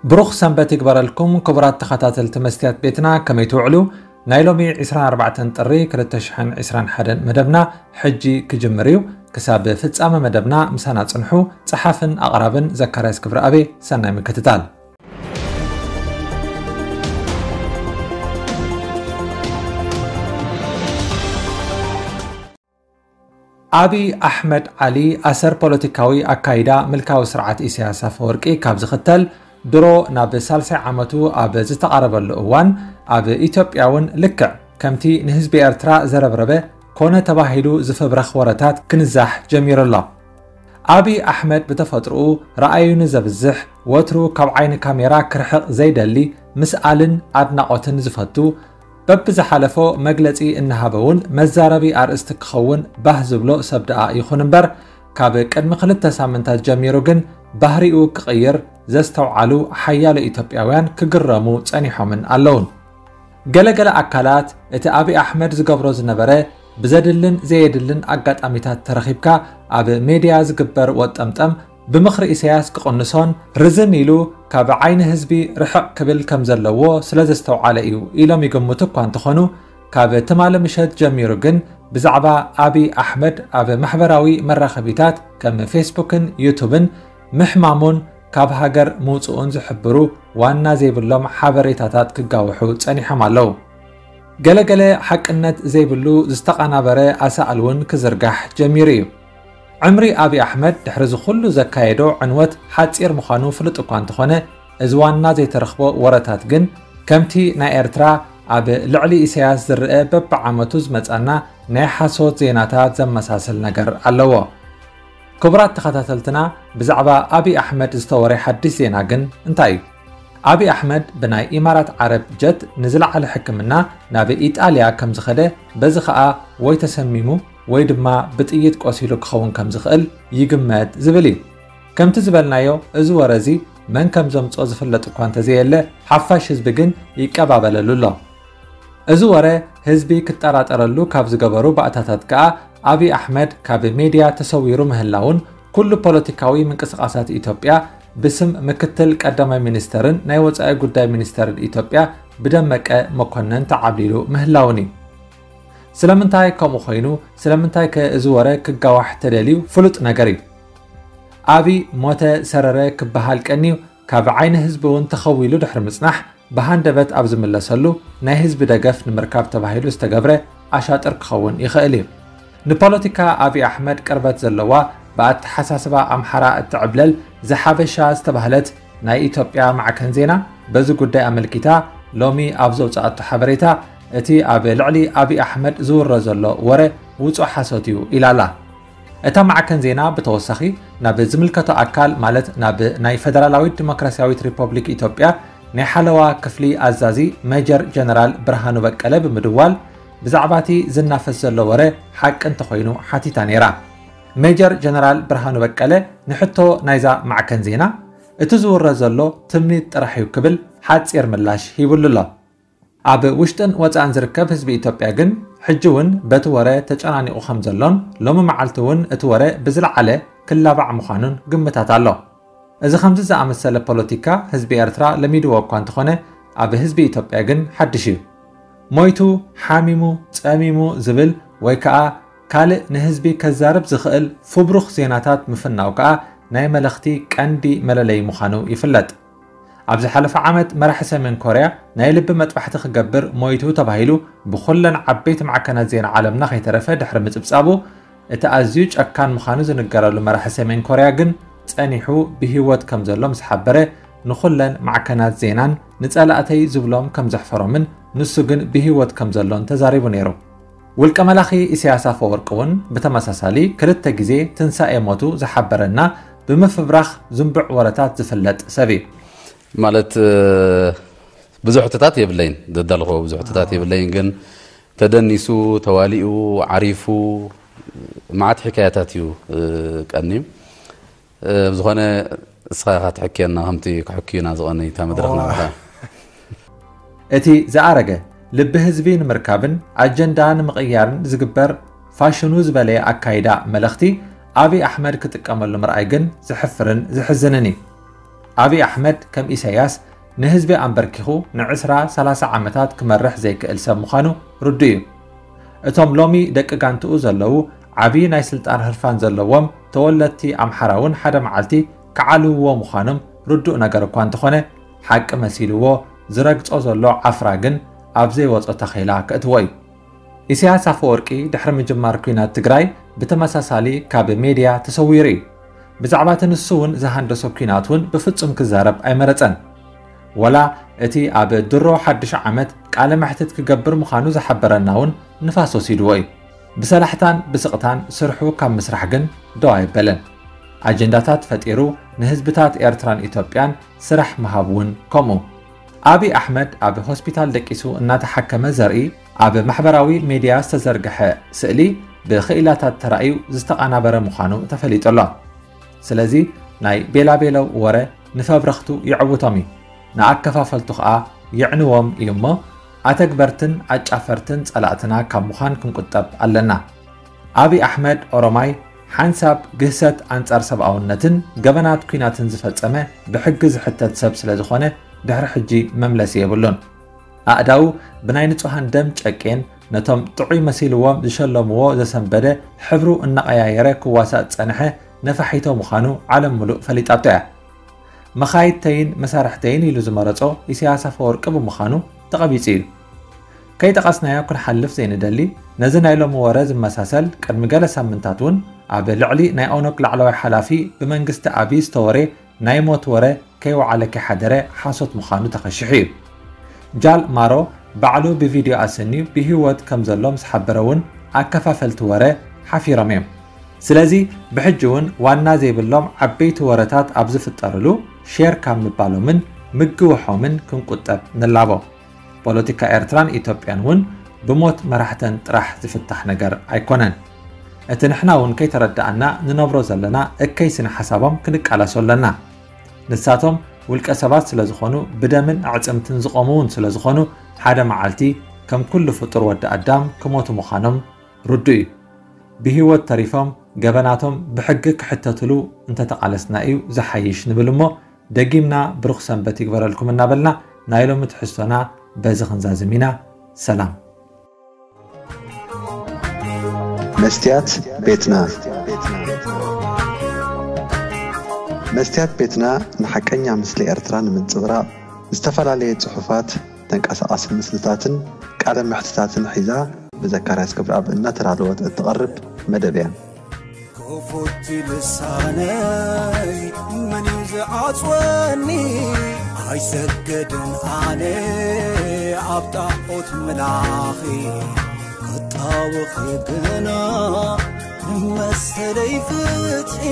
ብሩኽ ሰንበት ይግበረልኩም ክቡራት ተኸታተልቲ መስትያት ቤትና፣ ከመይ ትውዕሉ? ናይ ሎሚ ዕስራን ኣርባዕተን ጥሪ ክልተ ሽሕን ዕስራን ሓደን መደብና ሕጂ ክጅምር እዩ። ክሳብ ፍጻመ መደብና ምሳና ጽንሑ። ጸሓፍን ኣቕራብን ዘካርያስ ክብረኣብ። ሰናይ ምክትታል። ኣብይ ኣሕመድ ዓሊ ኣሰር ፖለቲካዊ ኣካይዳ ምልካዊ ስርዓት ኢሳያስ ኣፈወርቂ ካብ ዝኽተል ድሮ ናብ ሳልሳይ ዓመቱ ኣብ ዝተቓረበሉ እዋን፣ ኣብ ኢትዮጵያ እውን ልክዕ ከምቲ ንህዝቢ ኤርትራ ዘረብረበ ኮነ ተባሂሉ ዝፍብረኽ ወረታት ክንዛሕ ጀሚሩ ኣሎ። ኣብይ ኣሕመድ ብተፈጥሮኡ ረኣዩ ንዘብዝሕ፣ ወትሩ ካብ ዓይኒ ካሜራ ክርሕቕ ዘይደሊ፣ ምስኣልን ኣድናቖትን ዝፈቱ፣ በብዝሓለፎ መግለጺ እናሃበ እውን መዛረቢ ኣርእስቲ ክኸውን ባህ ዝብሎ ሰብ ደኣ ይኹን እምበር፣ ካብ ቅድሚ ክልተ ሳምንታት ጀሚሩ ግን ባህሪኡ ክቕይር ዘስተውዓሉ ሓያሎ ኢትዮጵያውያን ክግረሙ ጸኒሖምን ኣለውን። ገለገለ ኣካላት እቲ ኣብይ ኣሕመድ ዝገብሮ ዝነበረ ብዘድልን ዘየድልን ኣጋጣሚታት ተረኺብካ ኣብ ሜድያ ዝግበር ወጠምጠም ብምኽሪ ኢሳያስ ክቕንሶን ርዝን ኢሉ ካብ ዓይኒ ህዝቢ ርሕቕ ክብል ከም ዘለዎ ስለ ዘስተውዓለ እዩ ኢሎም ይግምቱ እኳ እንተኾኑ፣ ካብ ትማሊ ምሸት ጀሚሩ ግን ብዛዕባ ኣብይ ኣሕመድ ኣብ ማሕበራዊ መራኸቢታት ከም ፌስቡክን ዩቱብን ምሕማሙን ካብ ሃገር ምውጽኡን ዝሕብሩ ዋና ዘይብሎም ሓበሬታታት ክጋውሑ ጸኒሖም ኣለዉ። ገለገለ ሓቅነት ዘይብሉ ዝተቐናበረ ኣሳእል እውን ክዝርጋሕ ጀሚሩ እዩ። ዕምሪ ኣብይ ኣሕመድ ድሕሪ እዚ ኩሉ ዘካየዶ ዕንወት ሓጺር ምዃኑ ፍሉጥ እኳ እንተኾነ፣ እዚ ዋና ዘይተረኽቦ ወረታት ግን ከምቲ ናይ ኤርትራ ኣብ ልዕሊ ኢሳያስ ዝረኣ በብዓመቱ ዝመጻና ናይ ሓሶት ዜናታት ዘመሳስል ነገር ኣለዎ። ክቡራት ተኸታተልትና፣ ብዛዕባ ኣብይ ኣሕመድ ዝተወረ ሓድሽ ዜና ግን እንታይ እዩ? ኣብይ ኣሕመድ ብናይ ኢማራት ዓረብ ጀት ንዝለዓለ ሕክምና ናብ ኢጣልያ ከም ዝኸደ፣ በዚ ኸኣ ወይ ተሰሚሙ ወይ ድማ ብጥይት ቆሲሉ ክኸውን ከም ዝኽእል ይግመት ዝብል እዩ። ከምቲ ዝበልናዮ፣ እዚ ወረ እዚ መን ከም ዘምጾ ዝፍለጥ እኳ እንተዘየለ፣ ሓፋሽ ህዝቢ ግን ይቀባበለሉ ኣሎ። እዚ ወረ ህዝቢ ክጠራጠረሉ ካብ ዝገበሩ ባእታታት ከኣ፣ ኣብይ ኣሕመድ ካብ ሜድያ ተሰዊሩ ምህላውን፣ ኩሉ ፖለቲካዊ ምንቅስቓሳት ኢትዮጵያ ብስም ምክትል ቀዳማይ ሚኒስተርን ናይ ወጻኢ ጉዳይ ሚኒስተርን ኢትዮጵያ ብደመቀ መኮነን ተዓብሊሉ ምህላውን እዩ። ስለምንታይ ከምኡ ኮይኑ? ስለምንታይ ከ እዚ ወረ ክጋዋሕ ተደልዩ? ፍሉጥ ነገር እዩ። ኣብይ ሞተ ሰረረ ክበሃል ቀንዩ፣ ካብ ዓይኒ ህዝቢ እውን ተኸዊሉ ድሕሪ ምጽናሕ፣ ብሃንደበት ኣብ ዝምለሰሉ፣ ናይ ህዝቢ ደገፍ ንምርካብ ተባሂሉ ዝተገብረ ኣሻጥር ክኸውን ይኽእል እዩ። ንፖለቲካ ኣብይ ኣሕመድ ቅርበት ዘለዋ፣ ብኣተሓሳስባ ኣምሓራ እትዕብለል ዘሓበሻ ዝተባህለት ናይ ኢትዮጵያ ማዕከን ዜና፣ በዚ ጉዳይ ኣመልኪታ ሎሚ ኣብ ዘውጽኣቶ ሓበሬታ፣ እቲ ኣብ ልዕሊ ኣብይ ኣሕመድ ዝውረ ዘሎ ወረ ውጹእ ሓሶት እዩ ኢላ ኣላ። እታ ማዕከን ዜና ብተወሳኺ፣ ናብ ዝምልከቶ ኣካል፣ ማለት ናብ ናይ ፈደራላዊት ዲሞክራስያዊት ሪፐብሊክ ኢትዮጵያ ናይ ሓለዋ ክፍሊ ኣዛዚ ሜጀር ጀነራል ብርሃኑ በቀለ ብምድዋል፣ ብዛዕባ እቲ ዝናፈስ ዘሎ ወረ ሓቂ እንተኾይኑ ሓቲታ ነይራ። ሜጀር ጀነራል ብርሃኑ በቀለ ንሕቶ ናይዛ ማዕከን ዜና፣ እቲ ዝውረ ዘሎ ትምኒት ጥራሕ እዩ ክብል ሓጺር ምላሽ ሂቡሉ ኣሎ። ኣብ ውሽጥን ወጻእን ዝርከብ ህዝቢ ኢትዮጵያ ግን፣ ሕጂ እውን በቲ ወረ ተጨናኒቑ ከም ዘሎን፣ ሎሚ መዓልቲ እውን እቲ ወረ ብዝለዓለ ክላባዕ ምዃኑን ግምታት ኣሎ። እዚ ከምዚ ዝኣመሰለ ፖለቲካ ህዝቢ ኤርትራ ለሚድዎ እኳ እንተኾነ፣ ኣብ ህዝቢ ኢትዮጵያ ግን ሓድሽ እዩ። ሞይቱ፣ ሓሚሙ፣ ጸሚሙ ዝብል ወይ ከኣ ካልእ ንህዝቢ ከዛርብ ዝኽእል ፉብሩኽ ዜናታት ምፍናው ከኣ ናይ መለኽቲ ቀንዲ መለለዪ ምዃኑ ይፍለጥ። ኣብ ዝሓለፈ ዓመት መራሒ ሰሜን ኮርያ ናይ ልቢ መጥባሕቲ ክገብር ሞይቱ ተባሂሉ ብኹለን ዓበይቲ ማዕከናት ዜና ዓለምና ከይተረፈ ድሕሪ ምጽብጻቡ፣ እቲ ኣዝዩ ጨካን ምዃኑ ዝንገረሉ መራሒ ሰሜን ኮርያ ግን ጸኒሑ ብህይወት ከም ዘሎ ምስ ሓበረ፣ ንኹለን ማዕከናት ዜናን ንጸላእተይ ዝብሎም ከም ዘሕፈሮምን ንሱ ግን ብህይወት ከም ዘሎን ተዛሪቡ ነይሩ። ውልቀ መላኺ ኢሳያስ ኣፈወርቂ እውን ብተመሳሳሊ ክልተ ግዜ ትንሳኤ ሞቱ ዝሓበረና ብምፍብራኽ ዝንቡዕ ወረታት ዝፍለጥ ሰብ እዩ። ማለት፣ እ፣ ብዙሕ ሕቶታት የብለይን፣ ዘዳለኹዎ ብዙሕ ሕቶታት የብለይን፣ ግን ተደኒሱ፣ ተዋሊኡ፣ ዓሪፉ፣ መዓት ሕካያታት እዩ፣ እ፣ ቀንዩ። እ፣ ብዝኾነ እስኻ ኢኻ ትሕክየና፣ ከምቲ ክሕክዩና ዝቐነዩ እታ መድረኽ ኦ። ናባኻ። እቲ ዝኣረገ ልቢ ህዝቢ ንምርካብን ኣጀንዳ ንምቕያርን ዝግበር ፋሽኑ ዝበለየ ኣካይዳ መለኽቲ ኣብይ ኣሕመድ ክጥቀመሉ ምርኣይ ግን ዘሕፍርን ዘሕዝንን እዩ። ኣብይ ኣሕመድ ከም ኢሳያስ ንህዝቢ ኣንበርኪኹ ንዕስራ ሰላሳ ዓመታት ክመርሕ ዘይክእል ሰብ ምዃኑ ርዱእ እዩ። እቶም ሎሚ ደቂ ጋንትኡ ዘለዉ ዓብዪ ናይ ስልጣን ህርፋን ዘለዎም ተወለድቲ ኣምሓራ እውን ሓደ መዓልቲ ክዓልውዎ ምዃኖም ርዱእ ነገር እኳ እንተኾነ፣ ሓቂ መሲልዎ ዝረግጾ ዘሎ ዓፍራ ግን ኣብ ዘይወጾ ታኼላ ከእትዎ እዩ። ኢሳያስ ኣፈወርቂ ድሕሪ ምጅማር ኲናት ትግራይ ብተመሳሳሊ ካብ ሜድያ ተሰዊሩ እዩ። ብዛዕባ እቲ ንሱ እውን ዝሃንደሶ ኲናት እውን ብፍጹም ክዛረብ ኣይመረጸን። ወላ እቲ ኣብ ድሮ ሓድሽ ዓመት ቃለ መሕትት ክገብር ምዃኑ ዝሓበረና እውን ንፋስ ወሲድዎ እዩ። ብሰላሕታን ብስቕታን ስርሑ ካብ ምስራሕ ግን ደው ኣይበለን። ኣጀንዳታት ፈጢሩ ንህዝብታት ኤርትራን ኢትዮጵያን ስራሕ ምሃብ እውን ከምኡ። ኣብይ ኣሕመድ ኣብ ሆስፒታል ደቂሱ እናተሓከመ ዘርኢ ኣብ ማሕበራዊ ሜድያ ዝተዘርግሐ ስእሊ ብኽኢላታት ተራእዩ ዝተቓናበረ ምዃኑ ተፈሊጡ ኣሎ። ስለዚ ናይ ቤላቤለው ወረ ንፈብረኽቱ የዕውቶም እዩ፣ ንኣከፋፈልቱ ኸኣ የዕንዎም እዩ እሞ ኣተግበርትን ኣጫፈርትን ጸላእትና ካብ ምዃን ክንቁጠብ ኣለና። ኣብይ ኣሕመድ ኦሮማይ ሓንሳብ ግህሰት ኣንጻር ሰብኣውነትን ገበናት ኲናትን ዝፈጸመ ብሕጊ ዝሕተት ሰብ ስለ ዝኾነ ድሕሪ ሕጂ መምለሲ የብሉን። ኣእዳዉ ብናይ ንጹሃን ደም ጨቄን ነቶም ጥዑይ መሲልዎም ዝሸለምዎ ዘሰንበደ ሕብሩ እናቐያየረ ክዋሳእ ዝጸንሐ ነፋሒቶ ምዃኑ ዓለም ምሉእ ፈሊጣቶ እያ። መኻይድተይን መሳርሕተይን ኢሉ ዝመረጾ ኢሳያስ ኣፈወርቂ ብምዃኑ ተቐቢጹ እዩ። ከይጠቐስናዮ ክንሓልፍ ዘይንደሊ፣ ነዚ ናይ ሎሚ ወረ ዝመሳሰል ቅድሚ ገለ ሳምንታት እውን ኣብ ልዕሊ ናይ ኦነግ ላዕለዋይ ሓላፊ ብመንግስቲ ኣብይ ዝተወረ ናይ ሞት ወረ ከይወዓለ ከይሓደረ ሓሶት ምዃኑ ተኸሺሑ እዩ። ጃል ማሮ ባዕሉ ብቪድዮ ኣሰንዩ ብህይወት ከም ዘሎ ምስ ሓበረ እውን ኣከፋፈልቲ ወረ ሓፊሮም እዮም። ስለዚ ብሕጂ እውን ዋና ዘይብሎም ዓበይቲ ወረታት ኣብ ዝፍጠርሉ ሼር ካብ ምባሎምን ምግውሖምን ክንቁጠብ ንላቦ። ፖለቲካ ኤርትራን ኢትዮጵያን እውን ብሞት መራሕተን ጥራሕ ዝፍታሕ ነገር ኣይኮነን። እቲ ንሕና እውን ከይተረዳኣና ንነብሮ ዘለና እከይ ስነ ሓሳቦም ክንቃለሶ ኣለና። ንሳቶም ውልቀ ሰባት ስለ ዝኾኑ ብደምን ኣዕጽምትን ዝቖሙ እውን ስለ ዝኾኑ ሓደ መዓልቲ ከም ኩሉ ፍጡር ወዲ ኣዳም ክሞቱ ምዃኖም ርዱእ እዩ። ብህይወት ተሪፎም ገበናቶም ብሕጊ ክሕተትሉ እንተተቓለስና እዩ ዝሓይሽ ንብል እሞ ደጊምና ብሩኽ ሰንበት ይግበረልኩም እናበልና ናይ ሎሚ ትሕዝቶና በዚ ክንዛዝም ኢና። ሰላም። መስትያት ቤትና። መስትያት ቤትና ንሓቀኛ ምስሊ ኤርትራ ንምንጽብራቕ ዝተፈላለየ ጽሑፋት፣ ተንቀሳቓሲ ምስልታትን ቃለ መሕትታትን ሒዛ ብዘካርያስ ገብረኣብ እናተዳለወት እትቐርብ መደብ እያ። ክፉት ልሳነይ መን እዩ ዝዓጽወኒ? ኣይሰገድን ኣነ ኣብ ጣዖት ምላኺ ክጣወኺ ግና ንመሰለይ ፍትሒ